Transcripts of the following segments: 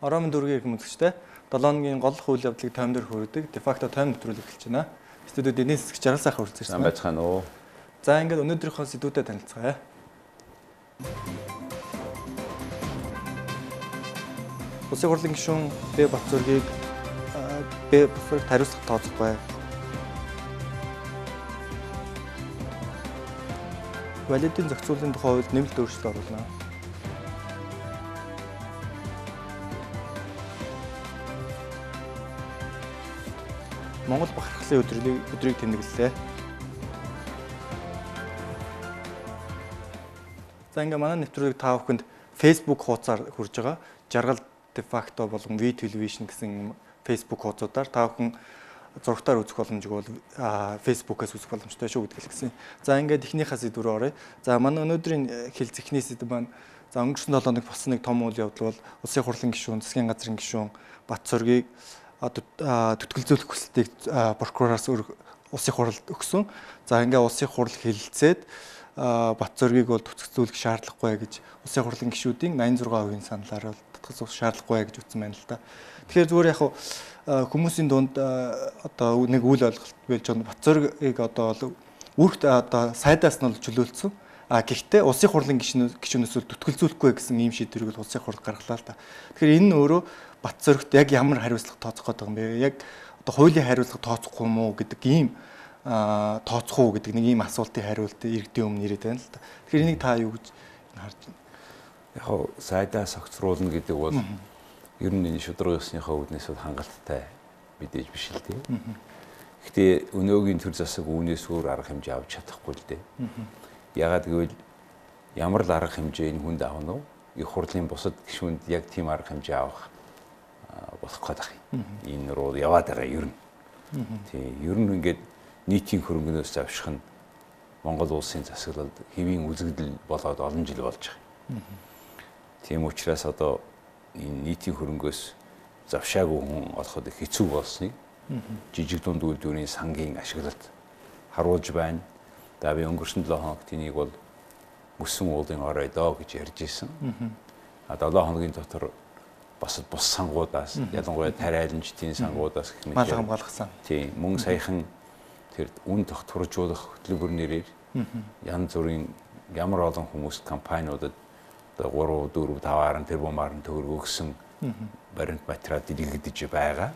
Ороомын дүүргийн эрхэм үзэгчтэй 7 хоногийн гол үйл явдлыг таймдэр хүргэдэг дефакто тайм нэвтрүүлэг эхэлж байна. Студиуд эдийн засгийн жаргал сайхан хүрэлцэн байна. Байцгаана уу. За ингээд өнөөдрийнхөө сэдвүүдэд танилцгаая. Улсын хурлын гишүүн Б Батзүргийг хариуцлага тооцохгүй. Валидын зохицуулалтын тухай хуульд нэмэлт өөрчлөлт оруулна. Монгол бахархлын өдрийг тэмдэглэлээ. За ингээ манай нэвтрүүлэг та бүхэнд Facebook хуудасаар хүрж байгаа. Жаргал дефакто болон V television гэсэн Facebook хуудасуудаар та бүхэн зурагтаар үзэх боломжийг бол Facebook-аас үзэх боломжтой шүү гэдгийг хэлсэн. За ингээд эхнийхээ сэдв рүү оръё. За манай өнөөдрийн хэлц эхний сэдв маань за өнгөрсөн 7 хоног болсон нэг том үйл явдал бол Улсын хурлын гишүүн, засгийн газрын гишүүн Батзүргийг төтгөлзүүлэх хүсэлтийг прокуророос улсын хуралд өгсөн. За ингээ улсын хурал хэлэлцээд Батзүргийг бол төтгөлзүүлэх шаардлагагүй гэж улсын хурлын гишүүдийн 86% саналаар бол төтгөлзүүлэх шаардлагагүй гэж үтсэн байна л да. Тэгэхээр зүгээр яг хүмүүсийн дунд одоо нэг үйл ойлголт болж байгаа Батзүргийг одоо үүрэгт одоо сайдаас нь бол чөлөөлсөн. Гэхдээ улсын хурлын гишүүнээс төтгөлзүүлэхгүй гэсэн ийм шийдвэрийг бол улсын хурал гаргалаа л да. Тэгэхээр энэ нь өөрөө Батзүргт яг ямар хариуцлага тооцох гэдэг юм бэ? Яг одоо хуулийн хариуцлага тооцохгүй юм уу гэдэг ийм тооцох уу гэдэг нэг ийм асуултын хариулт иргэдийн өмнө ирээд байна л да. Тэгэхээр энийг та юу гэж харж байна? Яг сайдаас огцруулна гэдэг бол ер нь энэ шударга ёсныхаа үүднээс бол хангалттай мэдээж биш л дээ. Гэхдээ өнөөгийн төр засаг үүнээс өөр арга хэмжээ авч чадахгүй л дээ. Ягаад гэвэл ямар л арга хэмжээ энэ хүнд авах нь их хурлын бусад гишүүнд яг тийм арга хэмжээ авах болох гэдэг юм. Энэ руу яваад байгаа ер нь. Тийм ер нь ингээд нийтийн хөрөнгөнөөс завших нь Монгол улсын засаглалд хэвийн үзэгдэл болоод олон жил болж байгаа. Тийм учраас одоо энэ нийтийн хөрөнгөөс завшаагүй хүн олоход хэцүү болсныг жижиг дунд үйлдвэрийн сангийн ашиглалт харуулж байна. За би өнгөрсөн 7 хоногт энийг бол мөсөн уулын орой доо гэж ярьж ирсэн. 7 хоногийн дотор бас бус сангуудаас ялангуяа тариаланчдын сангуудаас гэх мэт мал хамгаалах. Тийм мөн саяхан тэр үн тогтворжуулах хөтөлбөр нэрээр янз бүрийн ямар олон хүмүүст компаниудад 3, 4, 5 тэрбумаар төгрөг өгсөн баримт материал дэлгэгдэж байгаа.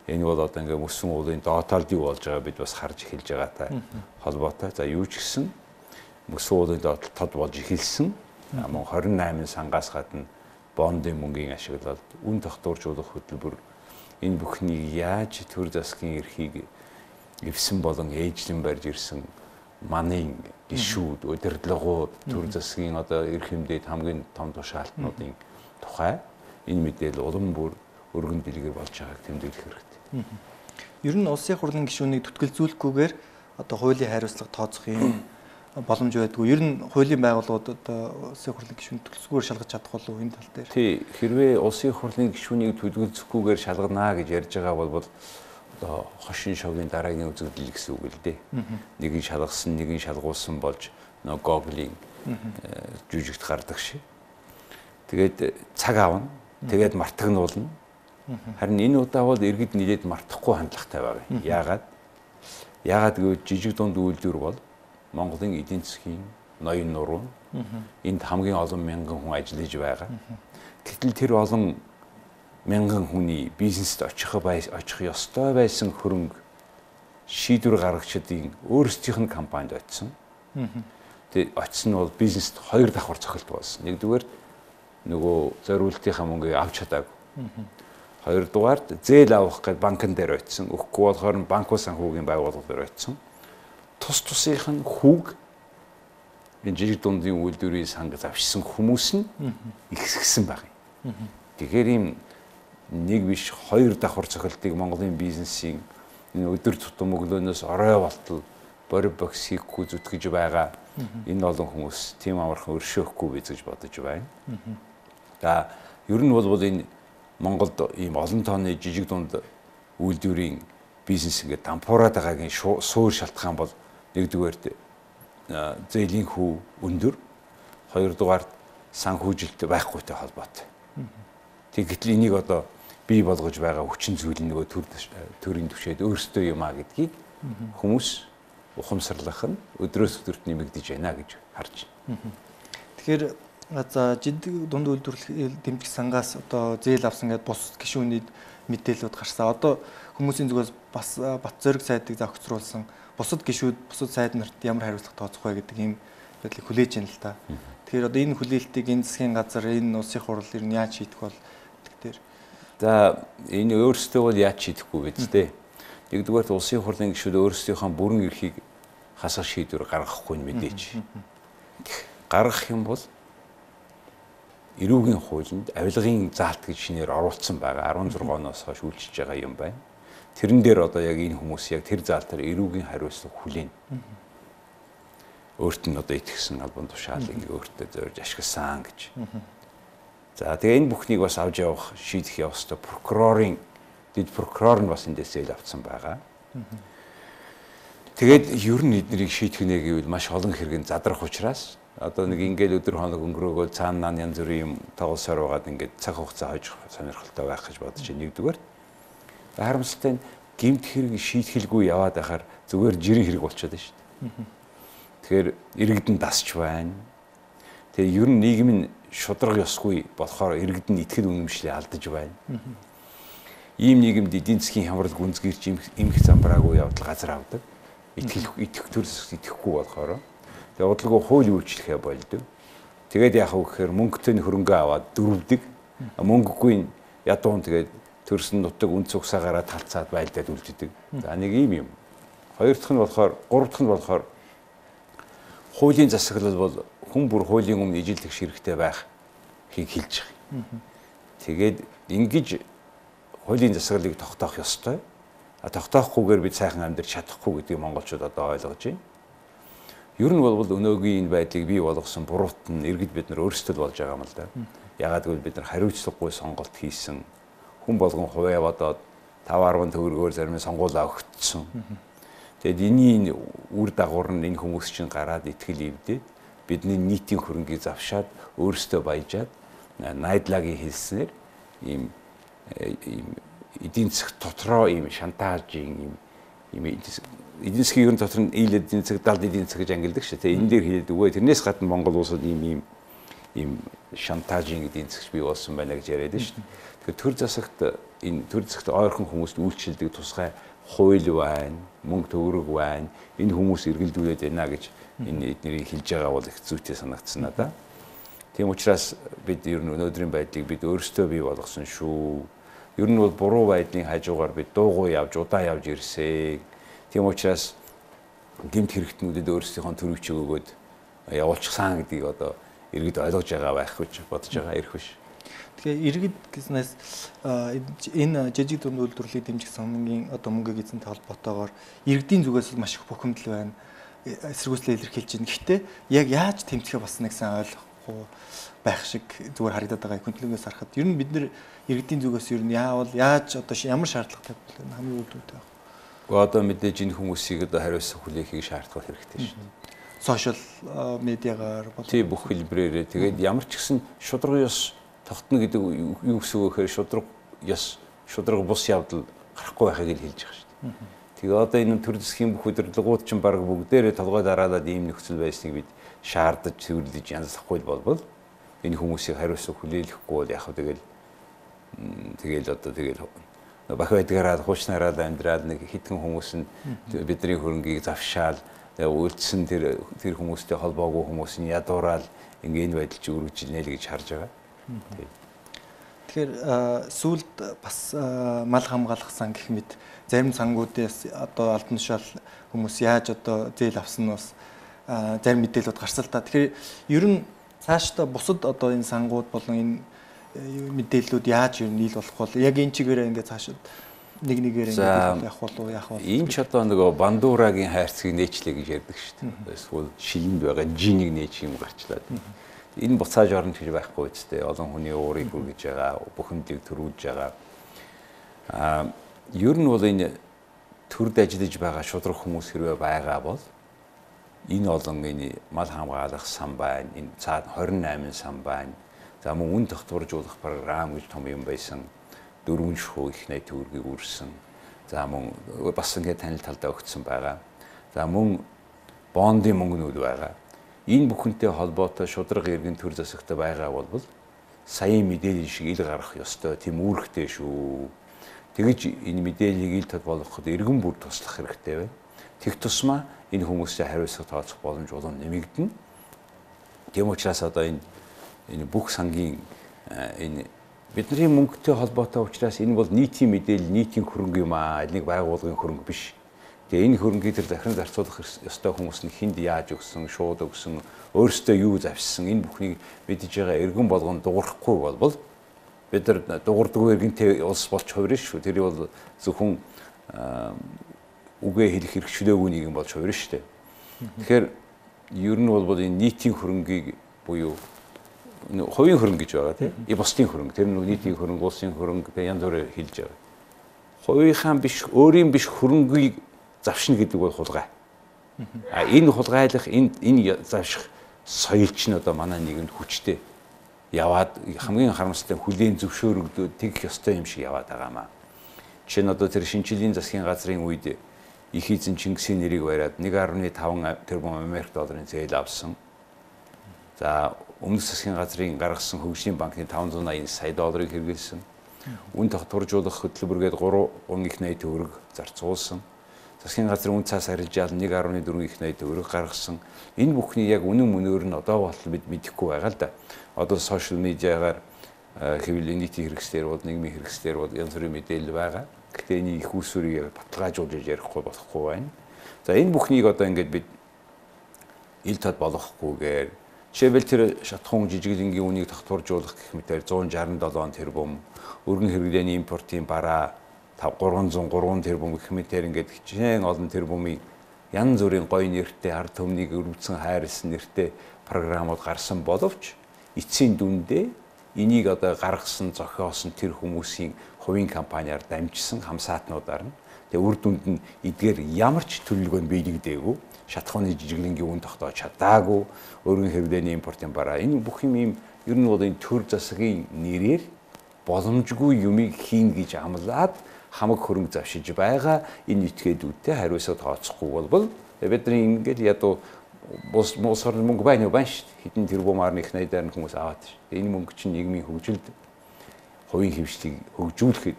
Энэ бол одоо ингээ мөсөн уулын доотолд юу болж байгаа бид бас харж эхэлж байгаатай холбоотой. За юу ч гэсэн мөсөн уулын доотолд тод болж эхэлсэн. Мөн 28 сангаас гадна бондын мөнгийн ашиглалт, үн тогтворжуулах хөтөлбөр энэ бүхнийг яаж төр засгийн эрхийг эвсэн болон ээжлэн барьж ирсэн манын гишүүд, удирдлагууд, төр засгийн одоо эрх хэмжээнд хамгийн том тушаалтнуудын тухай энэ мэдээлэл улам бүр өргөн дэлгэр болж байгааг тэмдэглэх хэрэгтэй. Ер нь улсын хурлын гишүүнийг төтгөлзүүлэхгүйгээр одоо хуулийн хариуцлага тооцох юм боломж байдгүй. Ер нь хуулийн байгууллагууд одоо улсын хурлын гишүүнийг төтгөлзүүлэхгүйгээр шалгаж чадах болов уу энэ тал дээр? Тий, хэрвээ улсын хурлын гишүүнийг төтгөлзөхгүй шалгана гэж ярьж байгаа бол одоо хошин шогийн дараагийн үзэгдэл гэсэн үг л дээ. Нэг нь шалгасан, нэг нь шалгуулсан болж нөгөө Google-ийн жүжигт гардаг шиг. Тэгээд цаг аавна. Тэгээд мартагнуулна. Харин энэ удаа бол иргэд нэлээд мартахгүй хандлагатай байгаа. Яагаад гэвэл жижиг дунд үйлдвэр бол Монголын эдийн засгийн ноён нуруу. Энд хамгийн олон мянган хүн ажиллаж байгаа. Гэтэл тэр олон мянган хүний бизнест очих ёстой байсан хөрөнгө шийдвэр гаргагчдын өөрсдийнх нь компанид очсон. Тэгээд очсон нь бол бизнест 2 давхар цохилт болсон. Нэгдүгээр нөгөө зориултынхаа мөнгөийг авч чадаагүй. Хоёрдугаард зээл авах гэж банкн дээр очсон. Өгөхгүй болохоор банкуй санхүүгийн байгууллага дээр очсон. Тус тусынх нь хүүг энэ жижиг дундын үйлдвэрийн санг завшсан хүмүүс нь ихсгсэн баг юм. Тэгэхээр ийм нэг биш 2 давхар цохилтыг Монголын бизнесийн энэ өдөр тутам өглөөнөөс орой болтол бори бокс хийхгүй зүтгэж байгаа энэ олон хүмүүс тийм амархан өршөөхгүй биз гэж бодож байна. За ер нь бол энэ Монголд ийм олон тооны жижиг дунд үйлдвэрийн бизнес ингээд дампуураад байгаагийн суур шалтгаан бол нэгдүгээр зээлийн хүү өндөр, хоёрдугаар санхүүжилт байхгүйтэй холбоотой. Гэтэл энийг одоо бий болгож байгаа хүчин зүйл нөгөө төрийн түвшээд өөрсдөө юм а гэдгийг хүмүүс ухамсарлах нь өдрөөс өдөрт нэмэгдэж байна гэж харж байна. Тэгэхээр за жидэг дунд үйлдвэрлэл дэмжих сангаас одоо зээл авсан гэдэг бус гишүүний мэдээлэлүүд гарсан. Одоо хүмүүсийн зүгээс бас бат зориг сайдыг зохицруулсан бусад гишүүд, бусад сайд нарт ямар хариуцлага тооцох вэ гэдэг ийм байдлыг хүлээж байна л та. Тэгэхээр одоо энэ хүлээлтийг энэ засгийн газар, энэ улсын хурал ер нь яаж шийдэх бол тэгэхээр за энэ өөрсдөө бол яаж шийдэхгүй вэ дээ. Нэгдүгээр улсын хурлын гишүүд өөрсдийнхөө бүрэн эрхийг хасах шийдвэр гаргахгүй мэдээж. Гаргах юм бол эрүүгийн хуулинд авилгын заалт гэж шинээр оруулсан байгаа 16 оноос хойш үйлчилж байгаа юм байна. Тэрэн дээр одоо яг энэ хүмүүс яг тэр заалтаар эрүүгийн хариуцлага хүлээнэ. Өөрт нь одоо итгэсэн албан тушаалыг өөртөө зорж ашигласан гэж. За тэгээ энэ бүхнийг бас авч явах шийдэх явах ёстой прокурорын дэд прокурор нь бас эндээс зээл авсан байгаа. Тэгээд ер нь эднийг шийдэх нэ гэвэл маш олон хэрэг задрах учраас одоо нэг ингээл өдөр хоног өнгөрөөгөө цаанаа янз бүрийн юм тоглосоор байгаад ингээд цаг хугацаа хойж сонирхолтой байх гэж бодож байна. Нэгдүгээр харамсалтай нь гэмт хэрэг шийдэхэлгүй яваад байхаар зүгээр жирийн хэрэг болчиход байна шүү дээ. Тэгэхээр иргэдэн дасч байна. Тэгээ ер нь нийгэм нь шудраг ёсгүй болохоор иргэдэн итгэл үнэмшлээ алдаж байна. Ийм нийгэмд эдийн засгийн хямрал гүнзгийрч эмх замбраагүй явдал газар авдаг. Итгэх төрөлс итгэхгүй болохоор тэгээ удалгүй хууль үйлчлэхээ болдог. Тэгээд яах вэ гэхээр мөнгөтэй хөрөнгө аваад дөрвдөг. Мөнгөгүй ядуун тэгээд төрсөн нутаг үн цугсаагаараа талцаад байлдаад үлддэг. За нэг ийм юм. Хоёр дахь нь болохоор, гурав дахь нь болохоор хуулийн засаглал бол хүн бүр хуулийн өмнө ижилдэх ширхтээ байх хийг хэлж байгаа. Тэгээд ингэж хуулийн засаглалыг тогтоох ёстой. Тогтоохгүйгээр бид сайхан амьдрах чадахгүй гэдгийг монголчууд одоо ойлгож байна. Ер нь бол өнөөгийн энэ байдлыг бий болгосон буруут нь иргэд бид нар өөрсдөө болж байгаа юм л да. Ягаад гэвэл бид нар хариуцлагагүй сонголт хийсэн. Хүн болгон хувиа бодоод 5-10 төгрөгөөр зарим сонгуулаа өгцсөн. Тэгэд энэний үр дагавар нь энэ хүмүүс чинь гараад итгэл ивдээд бидний нийтийн хөрөнгийг завшаад өөрсдөө баяжаад найдлагийн хэлснээр ийм эдийн засаг дотроо ийм шантажийн ийм эдийн засгийн ерөн дотор нь ил эдийн засаг, далд эдийн засаг гэж ангилдаг шүү дээ. Энэ дээр хэлээд өгөө. Тэрнээс гадна Монгол улсад ийм шантажийн эдийн засаг бий болсон байна гэж яриад байна шүү дээ. Тэгэхээр төр засагт энэ төр засагт ойрхон хүмүүст үйлчлдэг тусгай хууль байна, мөнгө төгрөг байна. Энэ хүмүүс эргэлдүүлээд байна гэж энэ эднэрийг хэлж байгаа бол их зүйтэй санагдсан надаа. Тийм учраас бид ер нь өнөөдрийн байдлыг бид өөрсдөө бий болгосон шүү. Ер нь бол буруу байдлын хажуугаар бид дуугүй явж удаа явж ирсэн. Тийм учраас гэмт хэрэгтнүүдэд өөрсдийнхөө төрөв чиг өгөөд явуулчихсан гэдгийг одоо иргэд ойлгож байгаа байх гэж бодож байгаа ирэх биш. Тэгэхээр иргэд гэснээс энэ жижиг дунд үйлдвэрлэлийг дэмжих сангийн одоо мөнгө эзэнтэй холбоотойгоор иргэдийн зүгээс маш их бухимдал байна. Эсэргүүцлээ илэрхийлж байна. Гэхдээ яг яаж тэмцэхээ бас нэг сайн ойлгохгүй байх шиг зүгээр харагдаад байгаа хүндлэгээс харахад ер нь бид нэр иргэдийн зүгээс ер нь яавал яаж одоо ямар шаардлагатай бол хамгийн үлдээтэй байх. Одоо мэдээж энэ хүмүүсийг одоо хариуцлага хүлээхийг шаардах хэрэгтэй шүү дээ. Сошиал медиагаар тий бүх хэлбэрээрээ тэгээд ямар ч гэсэн шудраг ёс тогтно гэдэг юу гэсэн үг гэхээр шудраг бус явдал гарахгүй байхыг л хэлж байгаа шүү дээ. Тэгээ одоо энэ төр засгийн бүх удирдлагууд чинь баг бүгдээрээ толгой дараалаад ийм нөхцөл байсныг бид шаардаж цэвэрлэж янзлахгүй болбол энэ хүмүүсийг хариуцлага хүлээлгэхгүй бол яг тэгэл одоо бах байдгаараа хуучнараа амьдраад нэг хитгэн хүмүүс нь бидний хөрөнгийг завшаал үйлдсэн тэр хүмүүстэй холбоогүй хүмүүс нь ядуураад энэ байдал чи үргэлжилнэ л гэж харж байгаа. Тэгэхээр сүүлд бас мал хамгаалах сан гэх мэт зарим сангуудаас одоо албан тушаал хүмүүс яаж одоо зээл авсан нь бас зарим мэдээлэлүүд гарсан л та. Тэгэхээр ер нь цаашдаа бусад одоо энэ сангууд болон энэ мэдээллүүд яаж ер нь нийл болох бол яг энэ чигээрээ ингээд цаашид нэгээр ингээд явах болов яах вэ? Энэ ч одоо нөгөө бандуурагийн хайрцгийг нээчлээ гэж ярьдаг шүү дээ. Эсвэл шилэнд байгаа жинийг нээж юм гарчлаад. Энэ буцааж орно гэж байхгүй үстэй. Олон хүний уурыг хүргэж байгаа, бухимдлыг төрүүлж байгаа. Ер нь бол энэ төрд ажиллаж байгаа шудраг хүмүүс хэрвээ байгаа бол энэ олон энэ мал хамгаалах сан байна, энэ цаад 28 сан байна. За мөн үн тогтворжуулах програм гэж том юм байсан. 4 шувуу их найт төгрөгийг үрсэн. За мөн бас ингээд танил талдаа өгсөн байгаа. За мөн бондын мөнгнүүд байгаа. Энэ бүхэнтэй холбоотой шударга иргэн төр засагтай байгаа бол саяын мэдээлэл шиг ил гарах ёстой. Тийм үүрэгтэй шүү. Тэгэж энэ мэдээллийг ил тод болгоход иргэн бүр туслах хэрэгтэй байна. Тэг тусмаа энэ хүмүүстэй хариуцлага тооцох боломж болон нэмэгдэнэ. Тийм учраас одоо энэ бүх сангийн энэ бидний мөнгөтэй холбоотой учраас энэ бол нийтийн мэдээлэл, нийтийн хөрөнгө юм аа. Нэг байгууллагын хөрөнгө биш. Тэгээ энэ хөрөнгийг тэр захиран зарцуулах ёстой хүмүүс нь хинд яаж өгсөн, шууд өгсөн, өөрсдөө юу завшсан энэ бүхнийг мэдж байгаа иргэн болгон дуурахгүй бол бид нар дуурдаггүй иргэнтэй улс болж хувирна шүү. Тэр бол зөвхөн үгээ хэлэх хэрэгчлээгүй нэг юм болж хувирна шүү дээ. Тэгэхээр ер нь бол энэ нийтийн хөрөнгийг буюу хувийн хөрөнгө гэж байгаа тийм. Бусдын хөрөнгө, тэр нь нийтийн хөрөнгө, улсын хөрөнгө янз бүрээр хэлж байгаа. Хувийнхаа биш, өөрийн биш хөрөнгийг завшна гэдэг бол хулгай. Энэ хулгайлах, энэ завших соёл чинь одоо манай нийгэмд хүчтэй яваад хамгийн харамсалтай хүлээн зөвшөөрөгдөөд тэгэх ёстой юм шиг яваад байгаамаа. Жишээ нь одоо тэр шинжилгээний засгийн газрын үед их эзэн Чингисийн нэрийг бариад 1.5 тэрбум Америк долларын зээл авсан. За өмнөх засгийн газрын гаргасан хөгжлийн банкны 580 сая долларыг хэрэглэсэн. Үн тогтворжуулах хөтөлбөргээд 3 их найт төгрөг зарцуулсан. Засгийн газрын үн цаас арилжаал 1.4 их найт төгрөг гаргасан. Энэ бүхний яг үнэн мөнөөр нь одоо болтол бид мэдэхгүй байгаа л да. Одоо сошиал медиагаар хэвлэлийн нийтийн хэрэгслэр бол нийгмийн хэрэгслэр бол янз бүрийн мэдээлэл байгаа. Гэхдээ энэ их усүрийг баталгаажуулж ярихгүй болохгүй байна. За энэ бүхнийг одоо ингээд бид ил тод болгохгүйгээр жишээлбэл тэр шатхуун жижиглэнгийн үнийг тогтворжуулах гэх мэтээр 167 тэрбум, өргөн хэрэглээний импортын бараа 303 тэрбум гэх мэтээр ингээд хичээн олон тэрбумын янз бүрийн гоё нэртэй ард түмнийг өрөвдсөн хайрлсан нэртэй програмууд гарсан боловч эцсийн дүндээ энийг одоо гаргасан зохиосон тэр хүмүүсийн хувийн компаниар дамжсан хамсаатнуудаар нь тэгээ үр дүнд нь эдгээр ямар ч төлөвлөгөө нь биелэгдээгүй шатхууны жижиглэнгийн үн тогтоож чадаагүй өргөн хэрэглээний импортын бараа энэ бүх юм ер нь бол энэ төр засгийн нэрээр боломжгүй юмыг хийн гэж амлаад хамаг хөрөнгө завшиж байгаа энэ этгээдүүдтэй хариуцлага тооцохгүй бол бидний ингээд ядуу мосор мөнгө байна шүү дээ хэдэн тэрбумаар их найдаар нь хүмүүс аваад шүү. Энэ мөнгө чинь нийгмийн хөгжилд хувийн хэмжлийг хөгжүүлэхэд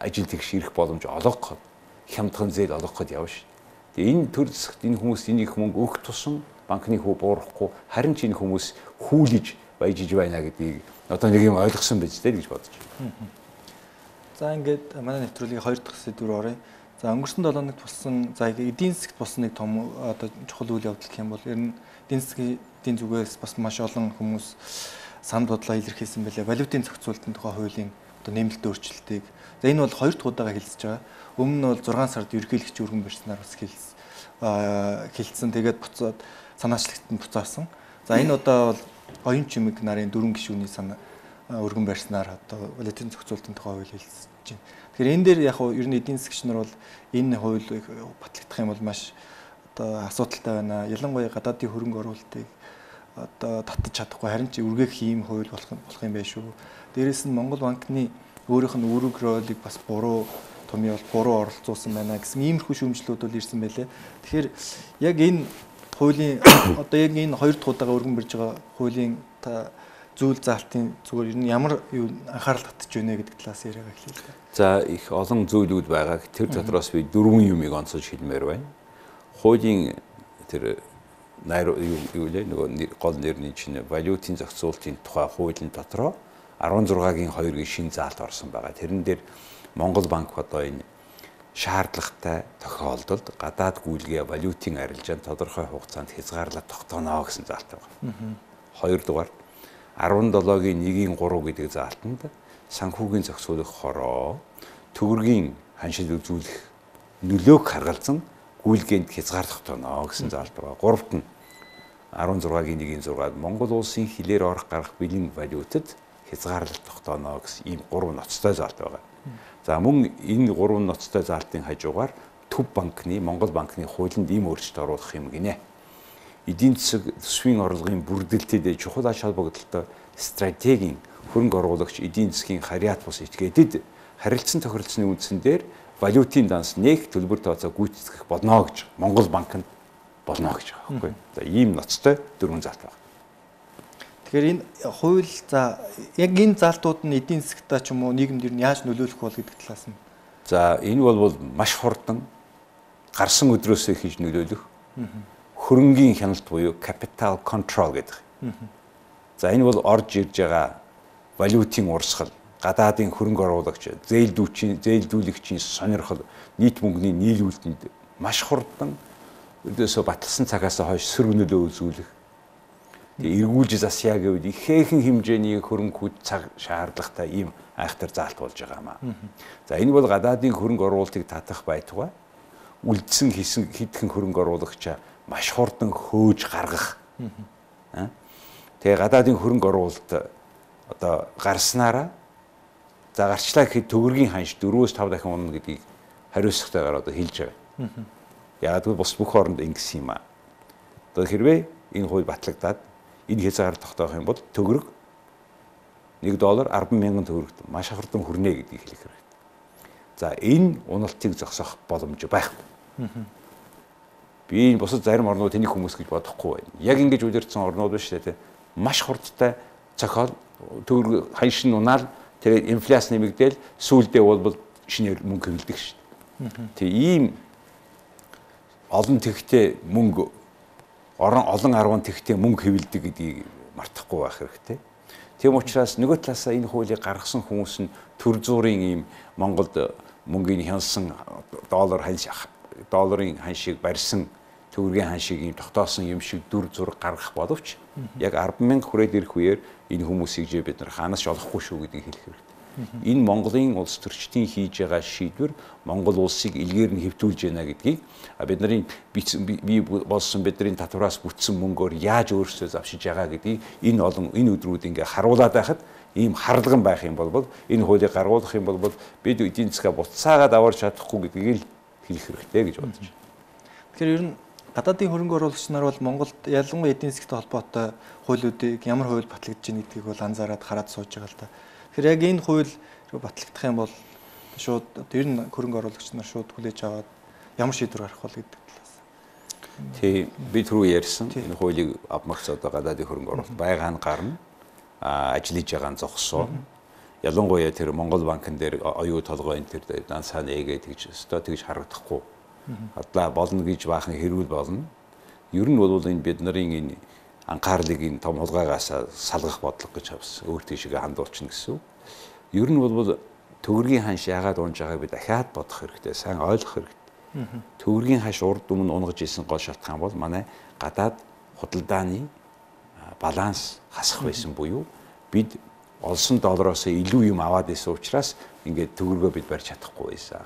ажил тэгш ирэх боломж олгоход хямдхан зээл олгоход явна шүү. Тэгээ энэ төр засагт энэ хүмүүс энийг мөнгө өгөх тусам банкны хүү буурахгүй харин ч энэ хүмүүс хүүлж баяжиж байна гэдгийг одоо нэг юм ойлгосон байж тээ гэж бодож байна. За ингээд манай нэвтрүүлгийн 2 дахь сэдвээр оръё. За өнгөрсөн 7 хоногт болсон за эдийн засгт болсон нэг том одоо чухал үйл явдал гэх юм бол ер нь эдийн засгийн зүгээс бас маш олон хүмүүс санал бодлоо илэрхийлсэн байлаа. Валютын зохицуулалтын тухай хуулийн одоо нэмэлт өөрчлөлтийг. За энэ бол 2 дахь удаага хэлэлцэж байгаа. Өмнө нь бол 6 сард ерөнхийлөгч өргөн барьснаар бас хэлэлцсэн. Тэгээд буцаад санаачлагт нь буцаасан. За энэ удаа бол оюун чимэг нарын 4 гишүүний санаа өргөн барьснаар одоо валютын зохицуулалтын тухай хууль хэлэлцэж байна. Тэгэхээр энэ дээр яг ер нь эдийн засгч нар бол энэ хуулийг батлагдах юм бол маш одоо асуудалтай байна. Ялангуяа гадаадын хөрөнгө оруулалтыг одоо татаж чадахгүй харин ч үргээх ийм хууль болох юм байна шүү. Дээрээс нь Монгол банкны өөрийнх нь үүрэг ролыг бас буруу оролцуулсан байна гэсэн иймэрхүү шүүмжлүүд бол ирсэн байлээ. Тэгэхээр яг энэ хуулийн одоо яг энэ 2 дахь удаага өргөн барьж байгаа хуулийн зүйл заалтын зүгээр ер нь ямар анхаарал татж байна гэдэг талаас яриага эхлэе л да. За их олон зүйлүүд байгаа. Тэр дотроос би 4 юмыг онцолж хэлмээр байна. Хуулийн тэр нөгөө гол нэрний чинь валютын зохицуулалтын тухай хуулийн дотроо 16-гийн 2-гийн шин заалт орсон байгаа. Тэрэн дээр Монгол банк одоо энэ шаардлагатай тохиолдолд гадаад гүйлгээ валютын арилжаанд тодорхой хугацаанд хязгаарлаад тогтооно гэсэн заалт байгаа. Хоёрдугаар 17-гийн 1-ийн 3 гэдэг заалтанд санхүүгийн зохицуулах хороо төгрөгийн ханшил үзүүлэх нөлөөг харгалзан гүйлгээнд хязгаар тогтооно гэсэн заалт байгаа. Гуравт нь 16-гийн 1-ийн 6-д Монгол улсын хилээр орох гарах бэлэн валютад хязгаарлалт тогтооно гэсэн ийм 3 ноцтой заалт байгаа. За мөн энэ 3 ноцтой заалтын хажуугаар Төв банкны Монгол банкны хуулинд ийм өөрчлөлт оруулах юм гинэ. эдийн засаг төсвийн орлогын бүрдэлтэд чухал ач холбогдолтой стратегийн хөрөнгө оруулагч эдийн засгийн харьяат бус этгээдэд харилцан тохиролцсны үндсэн дээр валютын данс нэг төлбөр тооцоо гүйцэтгэх болно гэж Монгол банкнд болно гэж байгаа байхгүй. За ийм ноцтой дөрвөн залт байна. Тэгэхээр энэ хууль за яг энэ залтууд нь эдийн засгтаа ч юм уу нийгэмд юу яаж нөлөөлөх бол гэдэг талаас нь. За энэ бол маш хурдан гарсан өдрөөсөө хийж нөлөөлөх хөрөнгийн хяналт буюу capital control гэдэг. За энэ бол орж ирж байгаа валютын урсгал, гадаадын хөрөнгө оруулагч, зээлдүүлэгчийн сонирхол, нийт мөнгөний нийлүүлэлтэнд маш хурдан өдөөсөө баталсан цагаас хойш сөрөг нөлөө үзүүлэх. Тэгээ эргүүлж засъя гэвэл ихээхэн хэмжээний хөрөнгө цаг шаардлагатай ийм айхтар заалт болж байгаамаа. За энэ бол гадаадын хөрөнгө оруулалтыг татах байтугай үлдсэн хэдхэн хөрөнгө оруулагчаа маш хурдан хөөж гаргах. Тэгээ гадаадын хөрөнгө оруулалт одоо гарснараа за гарчлаа гэхэд төгрөгийн ханш 4-5 дахин унана гэдгийг хариуцлагатайгаар одоо хэлж байгаа. Яг л бус бүх оронд ингэсэн юм аа. Одоо хэрвээ энэ хууль батлагдаад энэ хязгаар тогтоох юм бол төгрөг $1 10,000 төгрөгт маш хурдан хүрнэ гэдгийг хэлэх хэрэгтэй. За энэ уналтыг зогсоох боломж байхгүй. Би энэ бусад зарим орнууд тэнийг хүмүүс гэж бодохгүй байна. Яг ингэж үлдэрсэн орнууд биш үү? Маш хурдтай цохол төгрөг ханш нь унаал тэгээд инфляц нэмэгдээл сүүлдээ бол шинээр мөнгө хөвлөдөг шүү дээ. Тэг ийм олон тэгхтэй мөнгө олон 10 тэгхтэй мөнгө хөвлөдөг гэдгийг мартахгүй байх хэрэгтэй. Тийм учраас нөгөө талаасаа энэ хуулийг гаргасан хүмүүс нь төр зуурын ийм Монголд мөнгөний хянсан долларын ханшийг барьсан төгрөгийн ханшийг ийм тогтоосон юм шиг дүр зураг гаргах боловч яг 10,000 хүрээд ирэх үеэр энэ хүмүүсийг бид нар ханаас олохгүй шүү гэдгийг хэлэх хэрэгтэй. Энэ Монголын улс төрчдийн хийж байгаа шийдвэр Монгол улсыг илгээр нь хэвтүүлж байна гэдгийг бидний бий болсон бидний татвараас бүтсэн мөнгөөр яаж өөрсдөө завшиж байгаа гэдгийг энэ өдрүүд ингээ харуулад байхад ийм харлаган байх юм бол энэ хуулийг гаргуулах юм бол бид эдийн засгаа буцаагаад аварч чадахгүй гэдгийг л хэлэх хэрэгтэй гэж бодож байна. Тэгэхээр ер нь гадаадын хөрөнгө оруулагч нар бол Монголд ялангуяа эдийн засгийн холбоотой хуулиудыг ямар хууль батлагдж байна гэдгийг бол анзаараад хараад сууж байгаа л да. Тэгэхээр яг энэ хууль батлагдах юм бол шууд ер нь хөрөнгө оруулагч нар шууд хүлээж аваад ямар шийдвэр гарах бол гэдэг талаас. Тий, би түрүү ярьсан энэ хуулийг авмагц одоо гадаадын хөрөнгө оруулалт байгаа нь гарна. Ажиллаж байгаа нь зогсоо. Ялангуяа тэр Монгол банкн дээр оюу толгой энэ тэр дансаа нээгээд тэгж харагдахгүй. Адлаа болно гэж баахан хэрүүл болно. Ер нь бол энэ бид нарын энэ анхаарлыг энэ том хулгайгаас салгах бодлого гэж авсан. Өөр тийшээ хандуулчихна гэсэн. Ер нь бол төгрөгийн ханш яагаад унж байгааг би дахиад бодох хэрэгтэй, сайн ойлгох хэрэгтэй. Төгрөгийн ханш урд өмнө унгаж исэн гол шалтгаан бол манай гадаад худалдааны баланс хасах байсан буюу бид олсон доллароос илүү юм аваад исэн учраас ингээд төгрөгөө бид барьж чадахгүй байсан.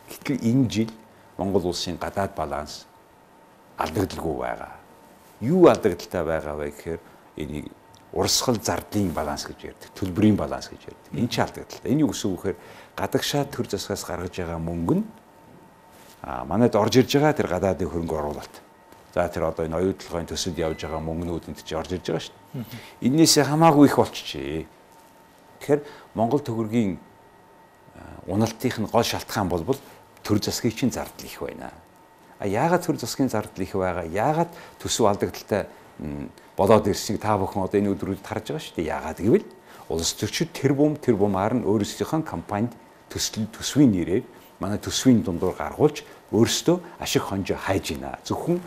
Гэтэл энэ жил Монгол улсын гадаад баланс алдагдaltaгүй байгаа. Юу алдагдaltaй байгаа вэ гэхээр энийг урсгал зардлын баланс гэж ярьдаг, төлбөрийн баланс гэж ярьдаг. Энэ ч алдагдaltaй. Энэ юу гэсэн үг гэхээр гадагшаа төр засгаас гаргаж байгаа мөнгө нь манайд орж ирж байгаа тэр гадаадын хөрөнгө оруулалт. За тэр одоо энэ оюун толгойн төсөлд явж байгаа мөнгнүүд энд чи орж ирж байгаа шүү дээ. Эннээсээ хамаагүй их болчихжээ. Тэгэхээр Монгол төгрөгийн уналтынх нь гол шалтгаан бол төр засгийн чинь зардал их байна. Яагаад төр засгийн зардал их байгаа? Яагаад төсөв алдагдaltaй болоод ирснийг та бүхэн одоо энэ өдрүүдэд харж байгаа шүү дээ. Яагаад гэвэл улс төрчид тэр бумаар нь өөрсдийнхөө компанид төсвийн нэрээр манай төсвийн дундуур гаргуулж өөрсдөө ашиг хонжоо хайж байна. Зөвхөн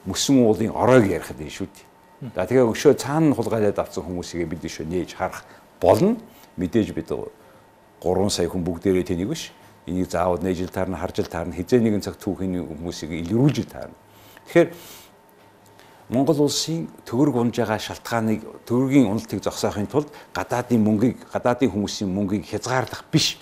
мөсөн уулын оройг ярихад энэ шүү дээ. За тэгээ өшөө цаана хулгайлаад авсан хүмүүсийг бид өшөө нээж харах болно. Мэдээж бид 3 сая хүн бүгдээрээ тэнийг биш. Энийг заавал нээжил таарна, харжил таарна, хизээ нэгэн цаг түүхийн хүмүүсийг илрүүлж таарна. Тэгэхээр Монгол улсын төгрөг унж байгаа шалтгааныг төгрөгийн уналтыг зогсоохын тулд гадаадын хүмүүсийн мөнгийг хязгаарлах биш.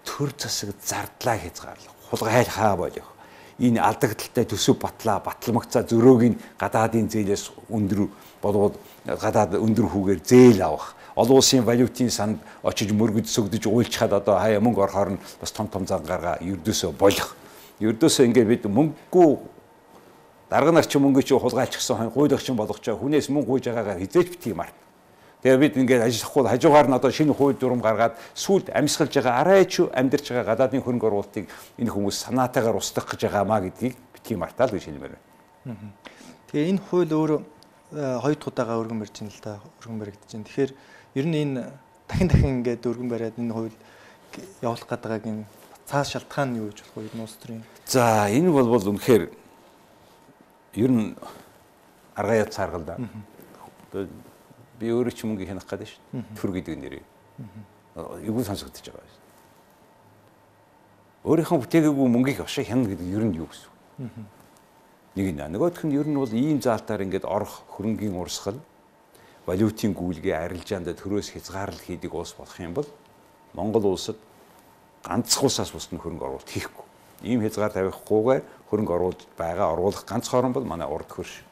Төр засаг зардлаа хязгаарлах, хулгай хаа болох. Энэ алдагдaltaй төсөв батламгцаа зөрөөг нь гадаадын зээлээс өндөр болгоод гадаад өндөр хүүгээр зээл авах. Олон улсын валютын санд очиж мөргөж сөгдөж уйлчхад одоо хаяа мөнгө орохоор нь бас том зан гаргаа ердөөсөө болох. Ердөөсөө ингээд бид мөнгөгүй дарга нар ч мөнгө чи хулгайлчихсан хань гуйлагчин болгож байгаа хүнээс мөнгө гуйж байгаагаар хизээж битгий март. Тэгээ бид ингээд ажиллахгүй хажуугаар нь одоо шинэ хууль дүрм гаргаад сүлд амьсгалж байгаа арай ч амьдарч байгаа гадаадын хөрөнгө оруулалтыг энэ хүмүүс санаатаагаар устгах гэж байгаамаа гэдгийг битгий мартаа л гэж хэлмээр байна. Тэгээ энэ хууль өөрөө хоёр дахь удаага өргөн барьж байна л да. Өргөн баригдаж байна. Тэгэхээр ер нь энэ дахин ингээд өргөн бариад энэ хууль явуулах гэдгийг энэ цааш шалтгаан нь юу гэж болох вэ? Улс төрийн. За энэ бол үнэхээр ер нь аргаа яд цааргал да. Би өөрөө ч мөнгө хянах гэдэг шүү. Төр гэдэг нэрээ. Юу сонсогдож байгаа юм. Өөрийнхөө бүтээгээгүй мөнгийг ошоо хянах гэдэг ер нь юу гэсэн үг. Нэг нь нөгөөх нь ер нь бол ийм заалтаар ингээд орох хөрөнгийн урсгал, валютын гүйлгээ арилжаанд төрөөс хязгаарлал хийдэг улс болох юм бол Монгол улсад ганцхан улсаас бусд нь хөрөнгө оруулалт хийхгүй. Ийм хязгаар тавихгүйгээр хөрөнгө оруулж байгаа оруулах ганц хорон бол манай урд хөрш.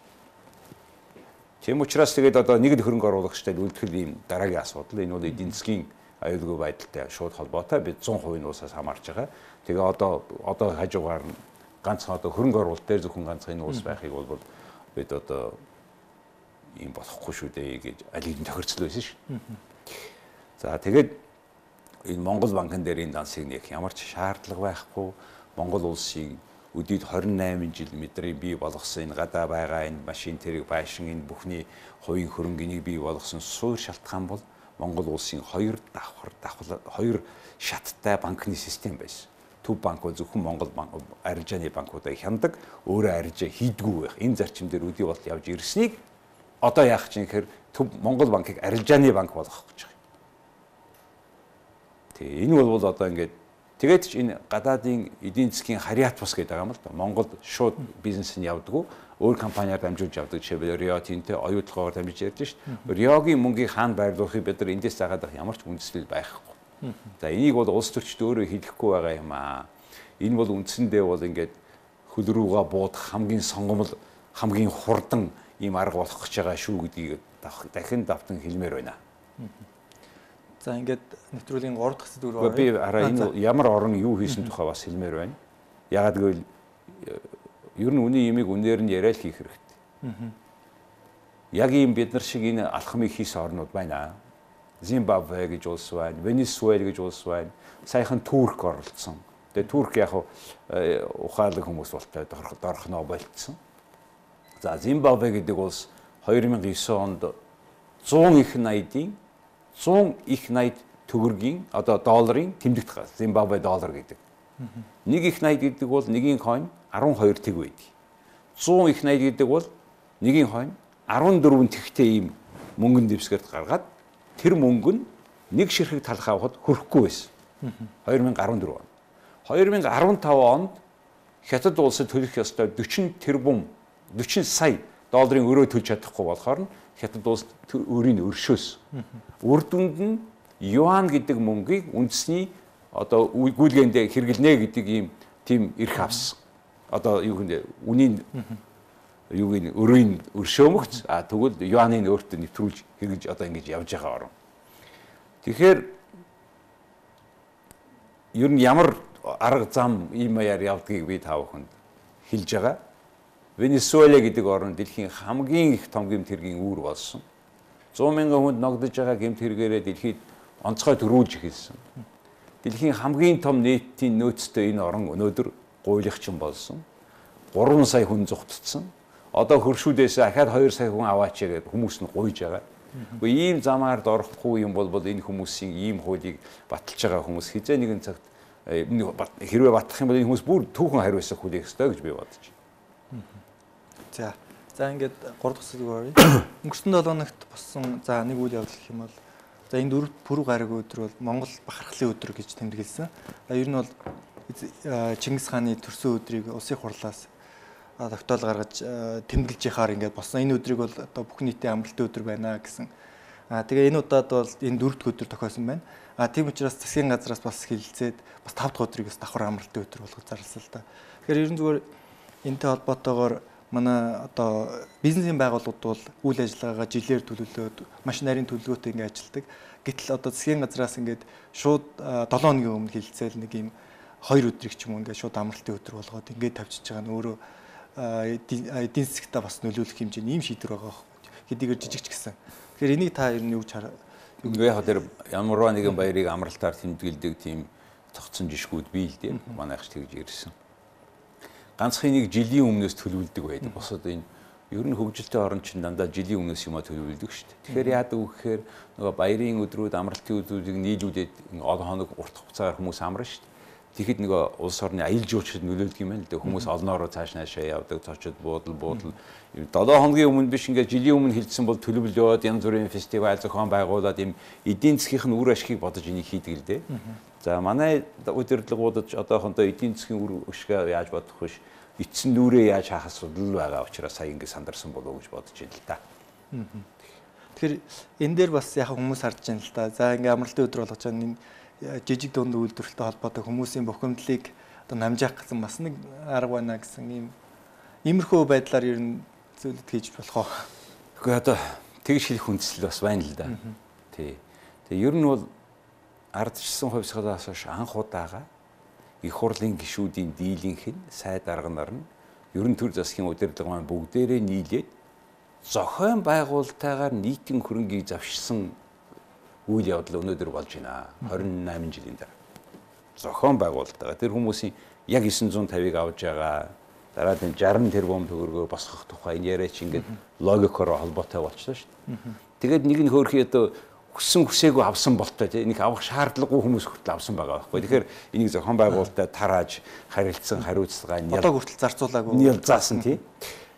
Тийм учраас тэгээд одоо нэг л хөрөнгө оруулагчтай үлдэхэл ийм дараагийн асуудал. Энэ бол эдийн засгийн аюулгүй байдалтай шууд холбоотой. Бид 100% улсаас хамаарч байгаа. Тэгээ одоо хажуугаар нь ганцхан одоо хөрөнгө оруулалт дээр зөвхөн ганцхан энэ улс байхыг бол бид одоо ийм болохгүй шүү дээ гэж аль хэдийн тохирцол байсан шүү. За тэгээд энэ Монгол банкн дээр энэ дансыг нэг ямар ч шаардлага байхгүй. Монгол улсын өдөрт 28 жил мэдрийн бий болгосон энэ гадаа байгаа энэ машин тэрэг байшин энэ бүхний хувийн хөрөнгөнийг бий болгосон суур шалтгаан бол Монгол улсын хоёр шаттай банкны систем байсан. Төв банк бол зөвхөн Монгол арилжааны банкуудыг хяндаг, өөрөө арилжаа хийдгүү байх. Энэ зарчим дээр үдий болол явж ирснийг одоо яах чинь гэхээр төв Монгол банкыг арилжааны банк болгох гэж байгаа. Тэгээ энэ бол одоо ингээд тэгээд ч энэ гадаадын эдийн засгийн харьяат бус гэдэг юм л да. Монгол шууд бизнес нь явдаггүй. Өөр компаниар дамжуулж явдаг. Жишээлбэл Рио Тинтэ оюутлагаар дамжиж ярьж шít. Риогийн мөнгийг хаана байрлуулахыг бид нар эндээс заагаад авах ямар ч үндэслэл байхгүй. За энийг бол улс төрчид өөрөө хэлэхгүй байгаа юм аа. Энэ бол үндсэндээ бол ингээд хөл рүүгээ буудах хамгийн сонгомл хамгийн хурдан ийм арга болох гэж байгаа шүү гэдгийг дахин давтан хэлмээр байна. За ингээд нэвтрүүлгийн 3 дахь сэдв рүү оръё. Би хараа энэ ямар орон юу хийсэн тухай бас хэлмээр байна. Ягаад гэвэл ер нь үний ямиг үнээр нь яриа л хийх хэрэгтэй. Яг ийм бид нар шиг энэ алхмыг хийсэн орнууд байна. Зимбабве гэж улс байна, Венесуэл гэж улс байна. Саяхан Турк оролцсон. Тэгээ Турк яг ухаалаг хүмүүс болтой дорхноо болцсон. За Зимбабве гэдэг улс 2009 онд 100 их 80 төгрөгийн одоо долларын тэмдэгт гал Зимбабве доллар гэдэг. Нэг их 80 гэдэг бол нэгийн хойно 12 тэг байдаг. 100 их 80 гэдэг бол нэгийн хойно 14 тэгтэй ийм мөнгөн дэвсгэрт гаргаад тэр мөнгө нь нэг ширхэг талах авахд хүрэхгүй байсан. 2014 он. 2015 онд Хятад улсад төлөх ёстой 40 сая долларын өрөө төлж чадахгүй болохоор Хятад улс өрийг өршөөс. Үр дүнд нь юан гэдэг мөнгийг үндэсний одоо гүйлгээндээ хэрэглэнэ гэдэг ийм тийм эрх авсан. Одоо юу гэнэ үнийн юугийн өрийн өршөмөгц тэгвэл юаныг өөртөө нэвтрүүлж хэрэгж одоо ингэж явж байгаа орон. Тэгэхээр ер нь ямар арга зам ийм маяар явдгийг би та бүхэнд хэлж байгаа. Венесуэла гэдэг орн дэлхийн хамгийн их том гэмт хэргийн үүр болсон. 100 мянган хүнд ногдож байгаа гэмт хэрэгээрээ дэлхийд онцгой төрүүлж эхэлсэн. Дэлхийн хамгийн том нийтийн нөөцтэй энэ орн өнөөдөр гуйлагчин болсон. 3 сая хүн зүгтцсэн. Одоо хөршүүдээс ахаад 2 сая хүн аваач гэдэг хүмүүс нь гуйж байгаа. Үгүй ийм замаар дорохгүй юм бол энэ хүмүүсийн ийм хуулийг баталж байгаа хүмүүс хизээ нэгэн цагт хэрвээ батлах юм бол энэ хүмүүс бүр түүхэн хариуцах хуулийг өстой гэж би бодож байна. За ингээд 3 дахь сэдвээр оръё. Өнгөрсөн 7 хоногт болсон нэг үйл явдал гэх юм бол энэ 4 пүрэв гараг өдөр бол Монгол бахархлын өдөр гэж тэмдэглэсэн. Ер нь бол Чингис хааны төрсөн өдрийг улсын хурлаас тогтоол гаргаж тэмдэглэж яхаар ингээд болсон. Энэ өдрийг бол одоо бүх нийтийн амралтын өдөр байна гэсэн. Тэгээ энэ удаад бол энэ 4 дахь өдөр тохиосон байна. Тийм учраас засгийн газраас бас хэлэлцээд бас 5 дахь өдрийг бас давхар амралтын өдөр болгож зарласан л да. Тэгэхээр ерөн зүгээр энэтэй холбоотойгоор манай одоо бизнесийн байгууллагууд бол үйл ажиллагаагаа жилээр төлөвлөөд маш нарийн төлөвлөгөөтэй ингээд ажилладаг. Гэтэл одоо засгийн газраас ингээд шууд 7 хоногийн өмнө хэлэлцээл нэг юм 2 өдрийг ч юм уу ингээд шууд амралтын өдөр болгоод ингээд тавьчихж байгаа нь өөрөө эдийн засгтаа бас нөлөөлөх хэмжээний ийм шийдвэр байгаа байхгүй. Хэдийгээр жижигч гэсэн. Тэгэхээр энийг та ер нь юу гэж хараа? Яг тэр ямарваа нэгэн баярыг амралтаар тэмдэглэдэг тийм тогтсон жишгүүд бий л дээ. Манайх ч тэгж ирсэн. Ганцхан нэг жилийн өмнөөс төлөвлөдөг байдаг. Босоод энэ ер нь хөгжилтэй орн чинь дандаа жилийн өмнөөс юмаа төлөвлөдөг шүү дээ. Тэгэхээр яадаг вэ гэхээр нөгөө баярын өдрүүд, амралтын өдрүүдийг нийлүүлээд олон хоног урт хугацаагаар хүмүүс амарна шүү дээ. Тэгэхэд нөгөө улс орны аялал жуулчлалд нөлөөлдөг юм байна л дээ. Хүмүүс олноороо цааш наашаа явдаг, цочод буудал 7 хоногийн өмнө биш ингээд жилийн өмнө хэлсэн бол төлөвлөд янз бүрийн фестивал зохион байгуулад ийм эдийн засгийн үр ашгийг бодож энийг хийдэг л дээ. За манай удирдлагуудад одоохондоо эдийн засгийн үр ашгаа яаж бодох вэ? Эцсийн нүрээ яаж хаах асуудал байгаа учраас сая ингэ сандарсан болов уу гэж бодож байна л да. Тэгэхээр энэ дээр бас яг хүмүүс харж байна л да. За ингээ амралтын өдөр болгож байгаа энэ жижиг дунд үйлдвэрлэлтэй холбоотой хүмүүсийн бухимдлыг одоо намжаах гэсэн бас нэг арга байна гэсэн иймэрхүү байдлаар ер нь зүйлд хийж болох уу? Гэхдээ одоо тэгж хэлэх хүндэслэл бас байна л да. Тий. Тэгээ ер нь бол ардчилсан хувьсгалаас хойш анх удаага их хурлын гишүүдийн дийлэнх нь сайд арга нар нь ерөн төр засгийн удирдлага маань бүгдээрээ нийлээд зохион байгуулалтаагаар нийтийн хөрөнгийг завшсан үйл явдал өнөөдөр болж байна. 28 жилийн дараа. Зохион байгуулалтаагаар тэр хүмүүсийн яг 950-ыг авж байгаа дараа нь 60 тэрбум төгрөгөөр босгох тухай энэ яриач ингээд логикоор холбоотой болчихлоо шүү дээ. Тэгээд нэг нь хөөрхий одоо хүссэн хүсээгүй авсан болтой тийм нэг авах шаардлагагүй хүмүүс хүртэл авсан байгаа байхгүй. Тэгэхээр энийг зохион байгуулалтад тарааж харилцсан хариуцлага одоо хүртэл зарцуулаагүй заасан тийм.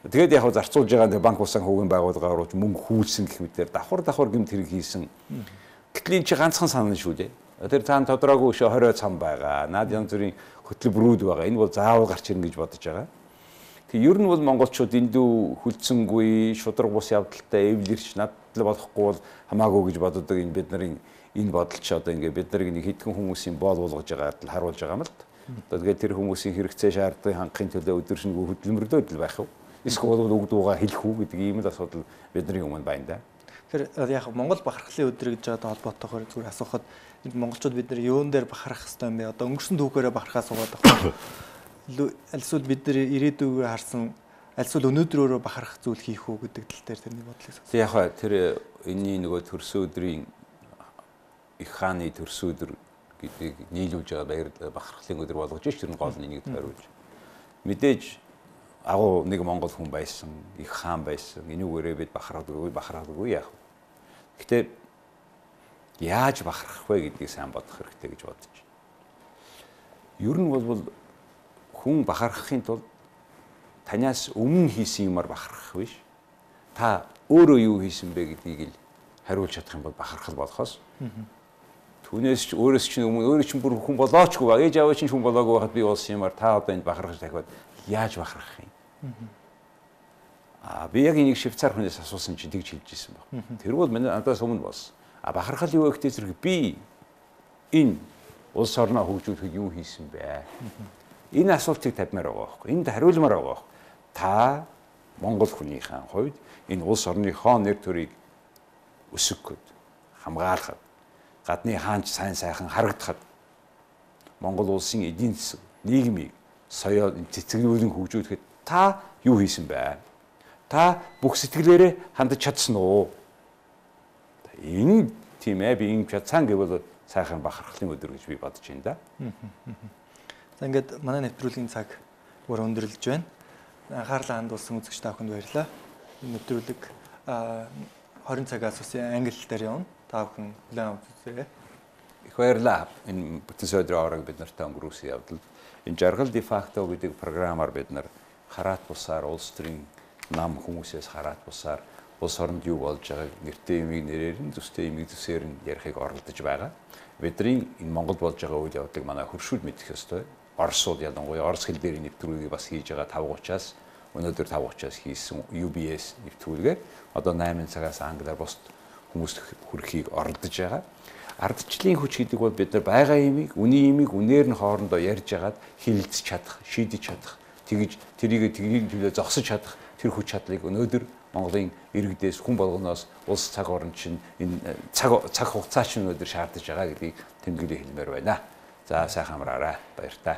Тэгээд яг зарцуулж байгаа банк усан хүүгийн байгууллагаар руу мөнгө хүүлсэн гэх мэтээр давхар гэмт хэрэг хийсэн. Гэтэл энэ чи ганцхан санал шүү дээ. Тэр цаана тодорхойгүй өшөө 20 цам байгаа. Наад янз бүрийн хөтөлбөрүүд байгаа. Энэ бол заавал гарч ирнэ гэж бодож байгаа. Тэгээ ер нь бол монголчууд эндүү хүлцэнгүй шудраг бус явдалтай эвлэрч надад болохгүй бол хамаагүй гэж боддог энэ бид нарын энэ бодол ч одоо ингээ бид нарыг нэг хэдхэн хүмүүсийн боол болгож байгаад л харуулж байгаа юм л та. Тэгээд тэр хүмүүсийн хэрэгцээ шаардлагыг хангахын төлөө өдөршөнгөө хөдөлмөрлөд л байх уу? Эсвэл үг дуугаа хэлэх үү гэдэг ийм л асуудал бидний өмнө байна да. Тэгэхээр яг Монгол бахархлын өдөр гэж байгаа холбоотойгоор зүгээр асуухад монголчууд бид нар юун дээр бахарах хэвээр юм бэ? Одоо өнгөрсөн түүхээрээ бахархаа суугаад байгаа. Альсвал бид нар ирээдүйгээр харсан альсвал өнөөдрөөрөө бахарах зүйл хийх үү гэдэг тал дээр тэрний бодлыг сонс. Яг тэр энэний нөгөө төрсөн өдрийн их хааны төрсөн өдөр гэдгийг нийлүүлж байгаа баяр бахархлын өдөр болгож ш тэр гол нэг тойруулж. Мэдээж агуу нэг монгол хүн байсан, их хаан байсан. Энүүгээрээ бид бахархаагүй яах вэ? Гэтэ яаж бахархах вэ гэдгийг сайн бодох хэрэгтэй гэж бодож байна. Ер нь бол хүн бахархахын тулд танаас өмнө хийсэн юмар бахархах биш. Та өөрөө юу хийсэн бэ гэдгийг л хариулж чадах юм бол бахархал болохоос. Түүнээс ч өөрөөс чинь өмнө өөрөө чинь бүр хүн болоочгүй ба. Ээж аваа чинь хүн болоогүй байхад би болсон юмар та одоо энд бахархаж дахиад яаж бахархах юм? Би яг энийг Швейцар хүнээс асуусан чинь тэгж хэлж ирсэн баг. Тэр бол надаас өмнө болсон. Бахархал юу гэхтэй зэрэг би энэ улс орноо хөгжүүлэхэд юу хийсэн бэ? Энэ асуултыг тавьмаар байгаа байхгүй. Энд хариулмаар байгаа байхгүй. Та Монгол хүнийхэн хувьд энэ улс орныхоо нэр төрийг өсгөхөд хамгаалахад гадны хаанч сайн сайхан харагдахад Монгол улсын эдийн засаг нийгмийг соёо цэцгэлүүлэн хөгжүүлэхэд та юу хийсэн бэ? Та бүх сэтгэлээрээ хандаж чадсан уу? Энэ тийм ээ би ингэ чадсан гэвэл сайхан бахархлын өдөр гэж би бодож байна да. За ингээд манай нэвтрүүлгийн цаг бүр өндөрлөж байна. Анхаарлаа хандуулсан үзэгч та бүхэнд баярлалаа. Энэ нэвтрүүлэг 20 цагаас үсэн англи дээр явна. Та бүхэн хүлээн авч үзээрэй. Их баярлалаа. Энэ бүтэн өдрийн хооронд бид нартай өнгөрөөсөн явдал энэ жаргал де факто гэдэг програмаар бид нар хараат бусаар улс төрийн нам хүмүүсээс хараат бусаар улс оронд юу болж байгааг нэртэй юмыг нэрээр нь зүстэй юмыг зүсээр нь ярихыг оролдож байгаа. Бидний энэ Монголд болж байгаа үйл явдлыг манай хөршүүд мэдэх ёстой. Оросууд ялангуяа орос хэл дээр нэвтрүүлгийг бас хийж байгаа 5:30-аас өнөөдөр 5:30-аас хийсэн UBS нэвтрүүлгээр одоо 8 цагаас англиар бусд хүмүүст хүрэхийг оролдож байгаа. Ардчлалын хүч гэдэг бол бид нар байгаа юмыг, үний юмыг үнээр нь хоорондоо ярьж хагаад хилэлцэж чадах, шийдэж чадах, тэгж тэрийг төлөө зогсож чадах тэр хүч чадлыг өнөөдөр Монголын иргэдээс хүн болгоноос улс цаг орон чинь энэ цаг хугацаа чинь өнөөдөр шаардж байгаа гэдгийг тэмдэглэж хэлмээр байна. За сайхан амраарай. Баяр та.